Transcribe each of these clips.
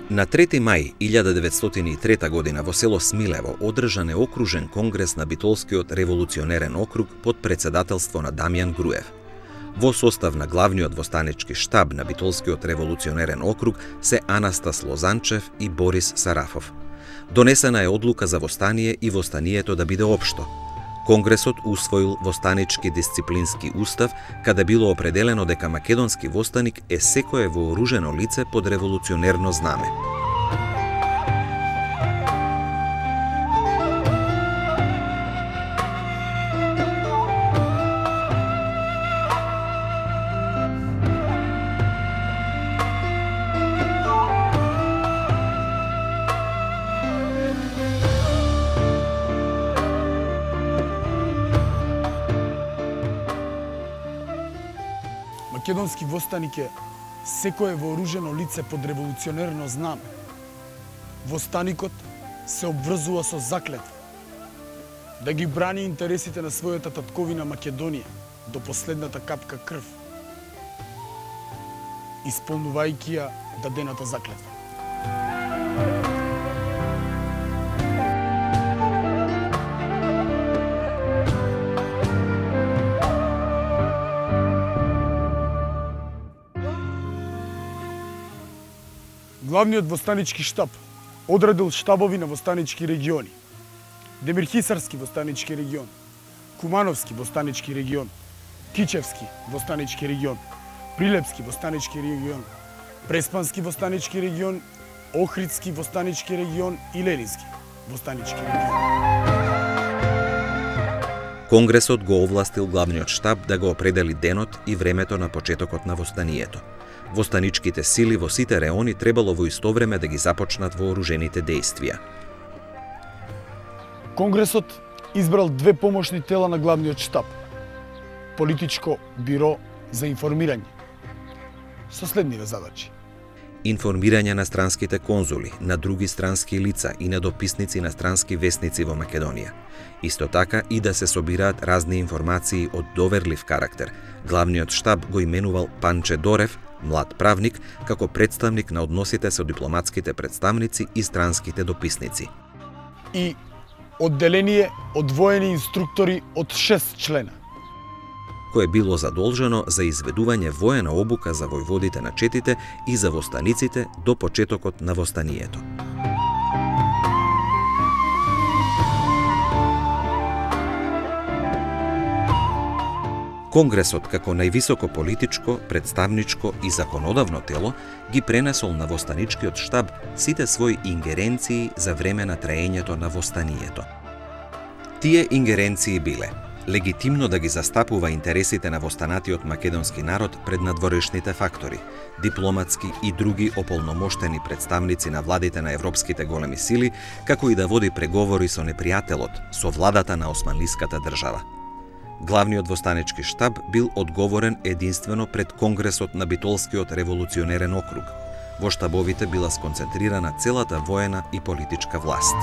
На 3 мај 1903 година во село Смилево одржан е окружен конгрес на Битолскиот револуционерен округ под председателство на Дамјан Груев. Во состав на главниот востанички штаб на Битолскиот револуционерен округ се Анастас Лозанчев и Борис Сарафов. Донесена е одлука за востание и востанието да биде општо. Конгресот усвоил востанички дисциплински устав, каде било определено дека македонски востаник е секое вооружено лице под револуционерно знаме. Македонски востаник е секое вооружено лице под револуционерно знаме. Востаникот се обврзува со заклетва да ги брани интересите на својата татковина Македонија до последната капка крв, исполнувајќи ја дадената заклетва. Главниот востанички штаб одредил штабови на востанички региони: Демирхисарски востанички регион, Кумановски востанички регион, Кичевски востанички регион, Прилепски востанички регион, Преспански востанички регион, Охридски востанички регион и Ленински востанички регион. Конгресот го овластил главниот штаб да го определи денот и времето на почетокот на востанието. Востаничките сили во сите реони требало во исто време да ги започнат вооружените дејствија. Конгресот избрал две помошни тела на главниот штаб: Политичко биро за информирање со следниве задачи: информирање на странските конзули, на други странски лица и на дописници на странски весници во Македонија. Исто така и да се собираат разни информации од доверлив карактер. Главниот штаб го именувал Панче Дорев, млад правник, како представник на односите со дипломатските представници и странските дописници. И одделение од воени инструктори од 6 члена, кое било задолжено за изведување воена обука за војводите на четите и за востаниците до почетокот на востанието. Конгресот, како највисоко политичко, представничко и законодавно тело, ги пренесол на востаничкиот штаб сите своји ингеренции за време на траењето на востанието. Тие ингеренции биле: легитимно да ги застапува интересите на востанатиот македонски народ пред надворешните фактори, дипломатски и други ополномоштени представници на владите на европските големи сили, како и да води преговори со непријателот, со владата на османлиската држава. Главниот востанички штаб бил одговорен единствено пред Конгресот на Битолскиот револуционерен округ. Во штабовите била сконцентрирана целата воена и политичка власт.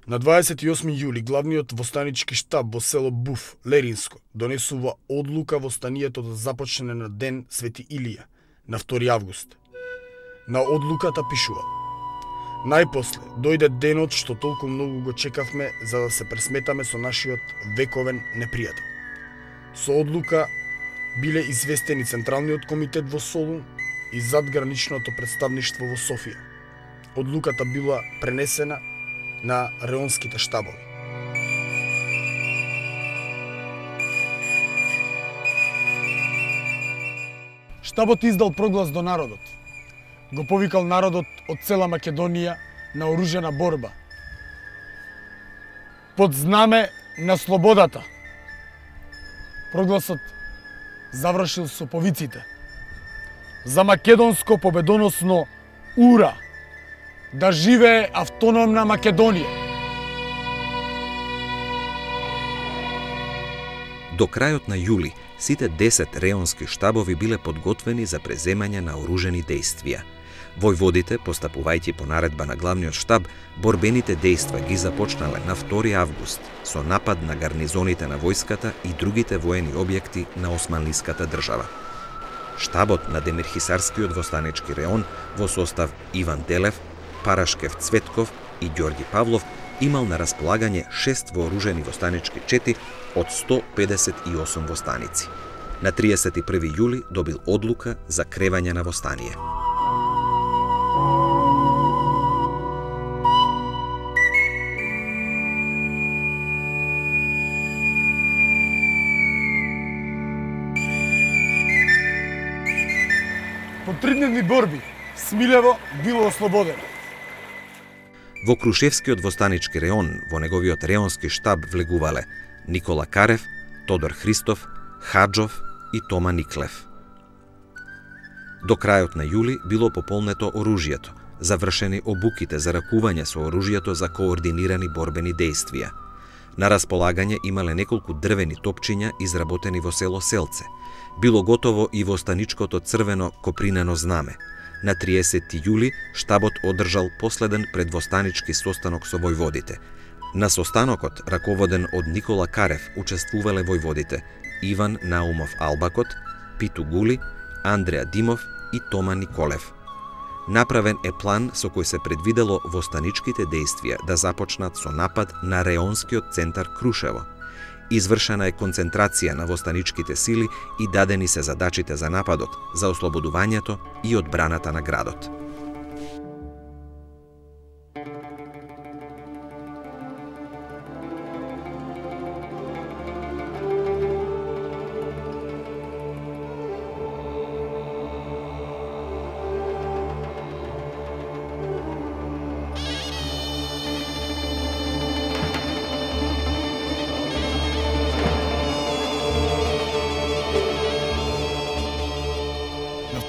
На 28 јули главниот востанички штаб во село Буф, Леринско, донесува одлука востанието да започне на ден Свети Илија, на 2 август. На одлуката пишува: најпосле дојде денот што толку многу го чекавме за да се пресметаме со нашиот вековен непријател. Со одлука биле известени Централниот комитет во Солун и задграничното представништво во Софија. Одлуката била пренесена на реонските штабови. Штабот издал проглас до народот. Го повикал народот од цела Македонија на оружена борба под знаме на слободата. Прогласот завршил со повиците: за македонско победоносно ура! Да живее автономна Македонија! До крајот на јули, сите 10 реонски штабови биле подготвени за преземање на оружени дејствија. Војводите, постапувајќи по наредба на главниот штаб, борбените дејства ги започнале на 2 август со напад на гарнизоните на војската и другите воени објекти на османлиската држава. Штабот на Демирхисарскиот востанички реон во состав Иван Делев, Парашкев Цветков и Ѓорги Павлов имал на располагање 6 вооружени востанички чети од 158 востаници. На 31 јули добил одлука за кревање на востание. По 3-дневни борби, Смилево било ослободено. Во Крушевскиот востанички реон, во неговиот реонски штаб влегувале Никола Карев, Тодор Христов, Хаджов и Тома Никлев. До крајот на јули било пополнето оружјето, завршени обуките за ракување со оружјето за координирани борбени дејствија. На располагање имале неколку дрвени топчиња изработени во село Селце. Било готово и востаничкото црвено копринено знаме. На 30 јули штабот одржал последен предвостанички состанок со војводите. На состанокот, раководен од Никола Карев, учествувале војводите Иван Наумов Албакот, Питу Гули, Андреа Димов и Тома Николев. Направен е план со кој се предвидело востаничките дејствија да започнат со напад на реонскиот центар Крушево. Извршена е концентрација на востаничките сили и дадени се задачите за нападот, за ослободувањето и одбраната на градот.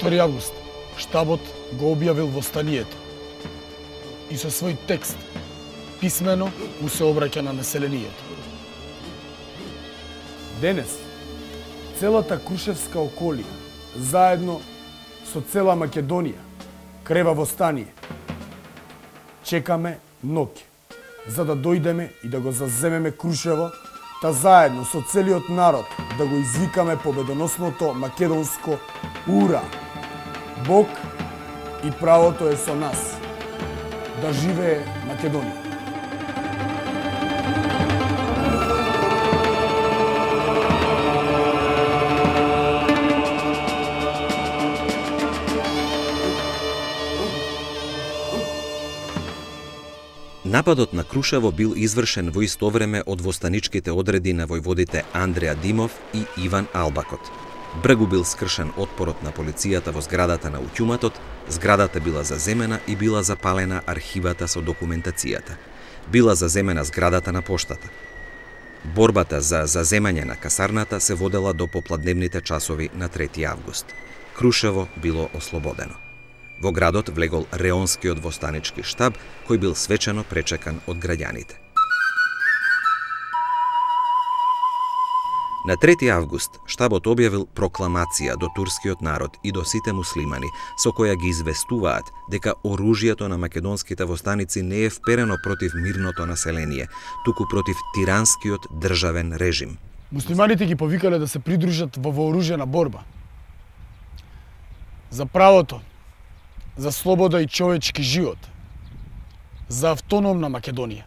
На 2 август штабот го објавил востанието и со свој текст писмено му се обраќа на населението. Денес целата Крушевска околија, заедно со цела Македонија, крева востание. Чекаме ноќе, за да дојдеме и да го заземеме Крушево, та заедно со целиот народ да го извикаме победоносното македонско ура! Бог и правото е со нас. Да живее Македонија! Нападот на Крушево бил извршен во исто време од востаничките одреди на војводите Андреа Димов и Иван Албакот. Бргу бил скршен отпорот на полицијата во зградата на утјуматот, зградата била заземена и била запалена архивата со документацијата. Била заземена зградата на поштата. Борбата за заземање на касарната се водела до попладневните часови на 3 август. Крушево било ослободено. Во градот влегол реонскиот востанички штаб, кој бил свечено пречекан од граѓаните. На 3 август штабот објавил прокламација до турскиот народ и до сите муслимани, со која ги известуваат дека оружјето на македонските востаници не е вперено против мирното население, туку против тиранскиот државен режим. Муслиманите ги повикале да се придружат во вооружена борба за правото, за слобода и човечки живот, за автономна Македонија.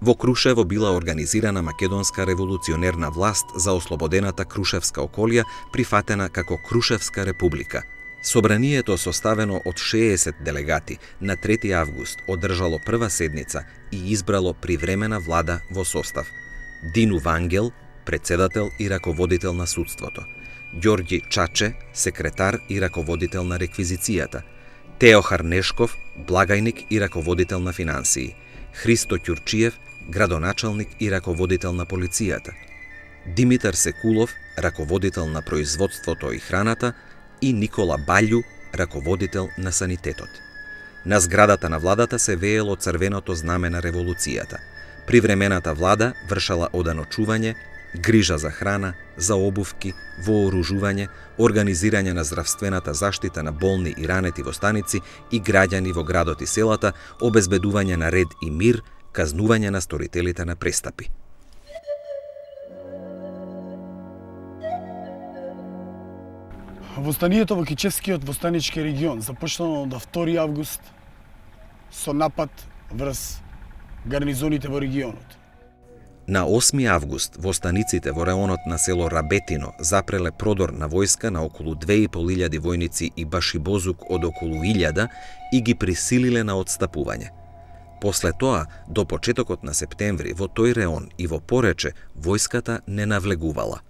Во Крушево била организирана македонска револуционерна власт за ослободената Крушевска околија, прифатена како Крушевска република. Собранието, составено од 60 делегати, на 3 август одржало прва седница и избрало привремена влада во состав: Дину Вангел, председател и раководител на судството; Ѓорѓи Чаче, секретар и раководител на реквизицијата; Теохар Нешков, благајник и раководител на финансии; Христо Ќурчиев, градоначалник и раководител на полицијата; Димитар Секулов, раководител на производството и храната, и Никола Баљу, раководител на санитетот. На зградата на владата се веело црвеното знаме на револуцијата. Привремената влада вршала оданочување, грижа за храна, за обувки, вооружување, организирање на здравствената заштита на болни и ранети во станици и граѓани во градот и селата, обезбедување на ред и мир, казнување на сторителите на престапи. Востанието во Кичевскиот востанички регион започнало од 2 август со напад врз гарнизоните во регионот. На 8 август востаниците во реонот на село Рабетино запреле продор на војска на околу 2500 војници и башибозук од околу 1000 и ги присилиле на отстапување. После тоа, до почетокот на септември, во тој реон и во Порече, војската не навлегувала.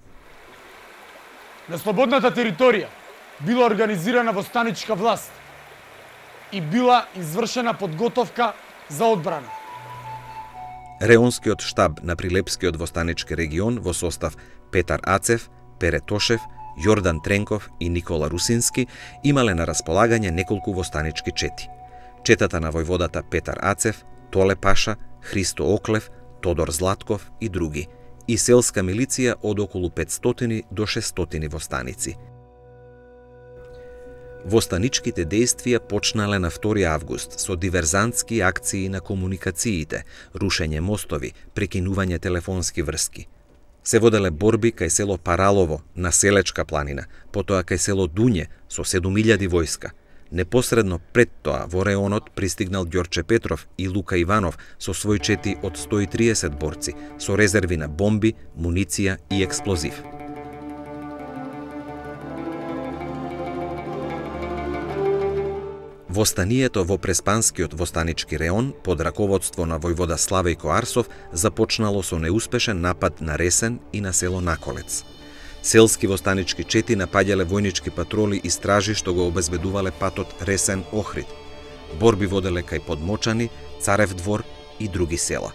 На слободната територија била организирана востаничка власт и била извршена подготовка за одбрана. Реонскиот штаб на Прилепскиот востанички регион во состав Петар Ацев, Пере Тошев, Јордан Тренков и Никола Русински имале на располагање неколку востанички чети. Четата на војводата Петар Ацев, Толе Паша, Христо Оклев, Тодор Златков и други, и селска милиција од околу 500 до 600 востаници. Востаничките дејствија почнале на 2 август со диверзантски акции на комуникациите, рушење мостови, прекинување телефонски врски. Се воделе борби кај село Паралово на Селечка планина, потоа кај село Дуње со 7000 војска. Непосредно пред тоа во реонот пристигнал Ѓорче Петров и Лука Иванов со свој чети од 130 борци, со резерви на бомби, муниција и експлозив. Востанието во Преспанскиот востанички реон под раководство на војвода Славејко Арсов започнало со неуспешен напад на Ресен и на село Наколец. Селски востанички чети напаѓале војнички патроли и стражи што го обезбедувале патот Ресен-Охрид. Борби воделе кај Подмочани, Царев двор и други села.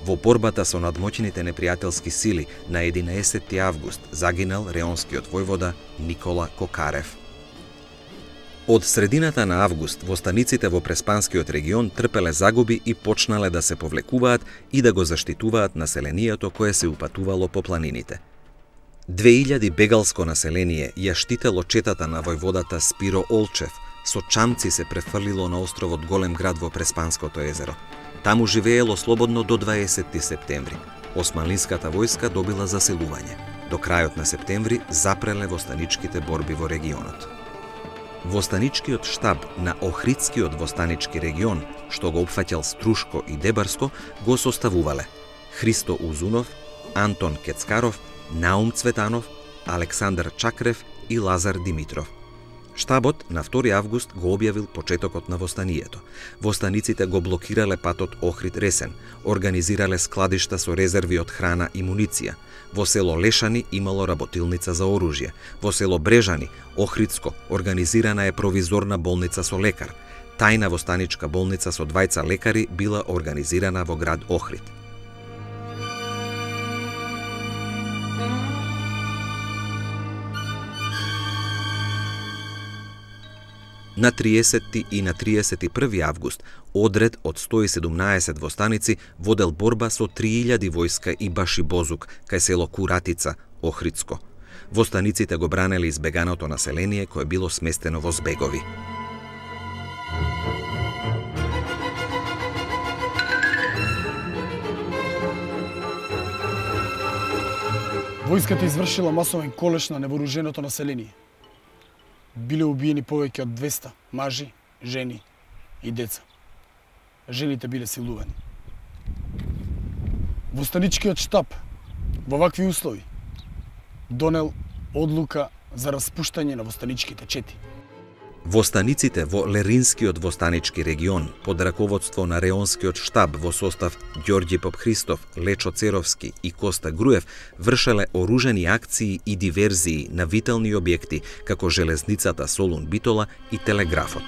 Во борбата со надмоќните непријателски сили на 11 август загинал реонскиот војвода Никола Кокарев. Од средината на август востаниците во Преспанскиот регион трпеле загуби и почнале да се повлекуваат и да го заштитуваат населението кое се упатувало по планините. 2000 бегалско население ја штитело четата на војводата Спиро Олчев, со чамци се префрлило на островот Голем град во Преспанското езеро. Таму живеело слободно до 20 септември. Османлиската војска добила заселување. До крајот на септември запреле востаничките борби во регионот. Востаничкиот штаб на Охридскиот востанички регион, што го опфаќал Струшко и Дебарско, го составувале Христо Узунов, Антон Кецкаров, Наум Цветанов, Александар Чакрев и Лазар Димитров. Штабот на 2 август го објавил почетокот на востанието. Востаниците го блокирале патот Охрид-Ресен, организирале складишта со резерви од храна и муниција. Во село Лешани имало работилница за оружје. Во село Брежани, Охридско, организирана е провизорна болница со лекар. Тајна востаничка болница со 2 лекари била организирана во град Охрид. На 30 и на 31 август одред од 117 востаници водел борба со 3000 војска и башибозук кај село Куратица, Охридско. Востаниците го бранеле избеганото население кое било сместено во збегови. Војската извршила масовен колеш на невооруженото население. Биле убиени повеќе од 200 мажи, жени и деца. Жените биле силувани. Востаничкиот штаб во вакви услови донел одлука за распуштање на востаничките чети. Востаниците во Леринскиот востанички регион под раководство на реонскиот штаб во состав Ѓорѓи Попхристов, Лечо Церовски и Коста Груев вршеле оружени акции и диверзии на витални објекти како железницата Солун Битола и телеграфот.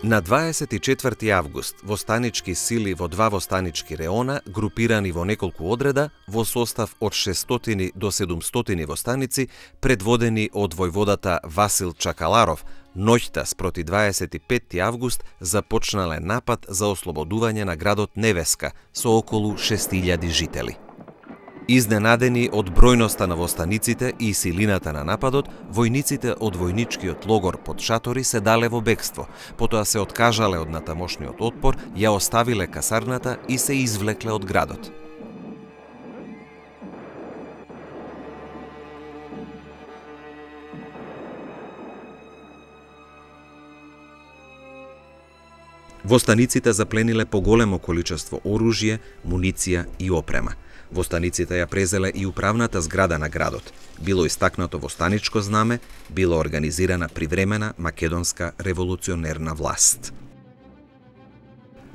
На 24 август востанички сили во 2 востанички реона, групирани во неколку одреда, во состав од 600 до 700 востаници, предводени од војводата Васил Чакаларов, Ноќта спроти 25 август започнале напад за ослободување на градот Невеска со околу 6000 жители. Изненадени од бројноста на востаниците и силината на нападот, војниците од војничкиот логор под шатори се дале во бегство, потоа се откажале од натамошниот отпор, ја оставиле касарната и се извлекле од градот. Востаниците заплениле поголемо количество оружје, муниција и опрема. Востаниците ја презеле и управната зграда на градот. Било истакнато востаничко знаме, било организирана привремена македонска револуционерна власт.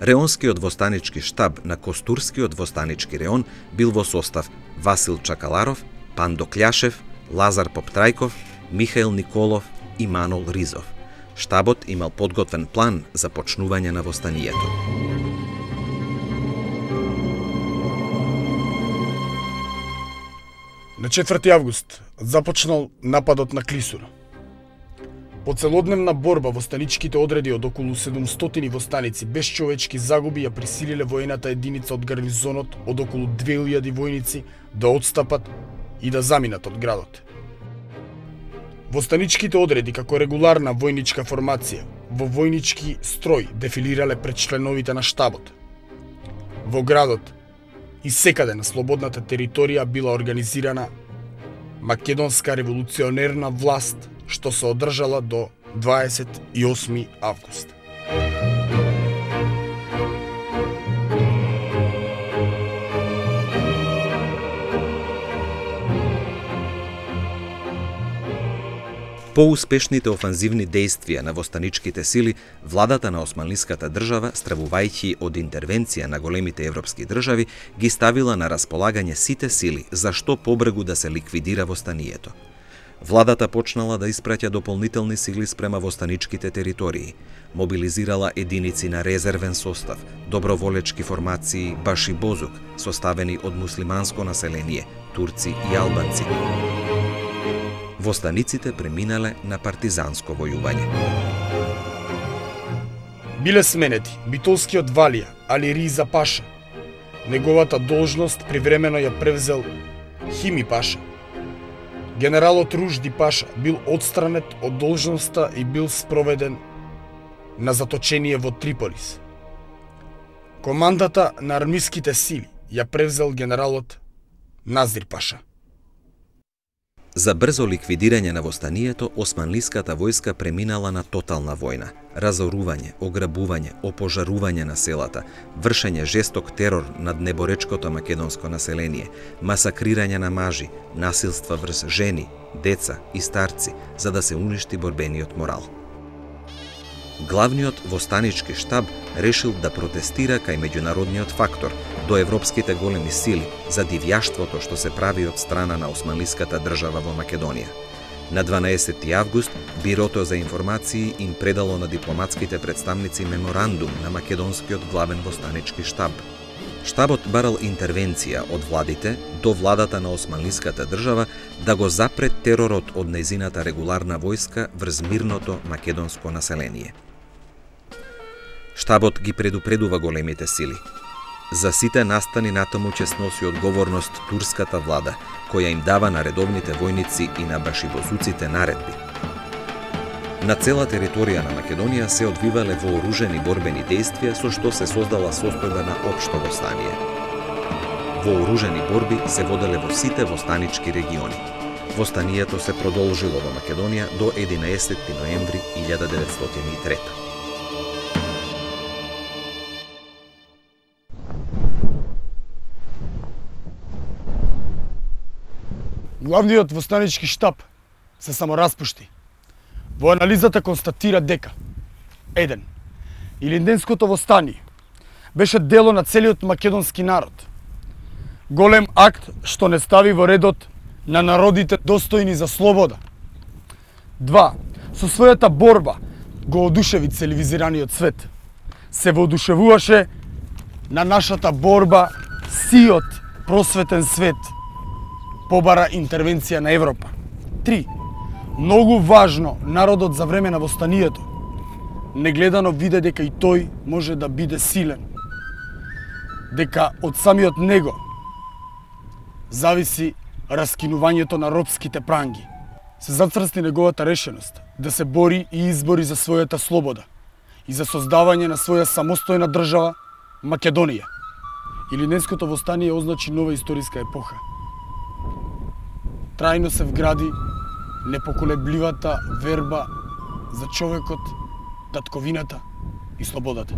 Реонскиот востанички штаб на Костурскиот востанички реон бил во состав Васил Чакаларов, Пандо Кљашев, Лазар Поптрајков, Михаил Николов и Манол Ризов. Штабот имал подготвен план за почнување на востанието. На 4 август започнал нападот на Клисура. По целодневна борба востаничките одреди од околу 700 востаници без човечки загуби ја присилиле воената единица од гарнизонот од околу 2000 војници да отстапат и да заминат од градот. Востаничките одреди како регуларна војничка формација во војнички строј дефилирале пред членовите на штабот. Во градот и секаде на слободната територија била организирана македонска револуционерна власт, што се одржала до 28 август. Поуспешните офанзивни дејствија на востаничките сили, владата на османлиската држава, стравувајќи од интервенција на големите европски држави, ги ставила на располагање сите сили за што побрегу да се ликвидира востанието. Владата почнала да испраќа дополнителни сили спрема востаничките територии, мобилизирала единици на резервен состав, доброволечки формации Баши Бозук, составени од муслиманско население, турци и албанци. Востаниците преминале на партизанско војување. Биле сменети битолскиот Валија, Али Риза Паша. Неговата должност привремено ја превзел Хими Паша. Генералот Ружди Паша бил отстранет од должноста и бил спроведен на заточение во Триполис. Командата на армиските сили ја превзел генералот Назир Паша. За брзо ликвидирање на востанието, османлиската војска преминала на тотална војна, разорување, ограбување, опожарување на селата, вршење жесток терор над неборечкото македонско население, масакрирање на мажи, насилства врз жени, деца и старци, за да се уништи борбениот морал. Главниот востанички штаб решил да протестира кај меѓународниот фактор, до европските големи сили, за дивјаштвото што се прави од страна на османлиската држава во Македонија. На 12 август, Бирото за информации им предало на дипломатските представници меморандум на македонскиот главен востанички штаб. Штабот барал интервенција од владите до владата на османлиската држава да го запре теророт од нејзината регуларна војска врз мирното македонско население. Штабот ги предупредува големите сили. За сите настани натаму ќе сноси одговорност турската влада, која им дава на редовните војници и на башибозуците наредби. На цела територија на Македонија се одвивале вооружени борбени дејствија со што се создала состојба на општо востание. Вооружени борби се воделе во сите востанички региони. Востанието се продолжило во Македонија до 11 ноември 1903. Главниот востанички штаб се самораспушти. Во анализата констатира дека 1. Илинденското востание беше дело на целиот македонски народ. Голем акт што не стави во редот на народите достојни за слобода. 2. Со својата борба го одушеви цивилизираниот свет. Се воодушевуваше на нашата борба сиот просветен свет. Побара интервенција на Европа. 3. Многу важно народот за време на востанието негледано виде дека и тој може да биде силен. Дека од самиот него зависи раскинувањето на робските пранги. Се зацрсти неговата решеност да се бори и избори за својата слобода и за создавање на своја самостојна држава Македонија. Илинденското востание означи нова историска епоха. Трајно се вгради непоколебливата верба за човекот, татковината и слободата.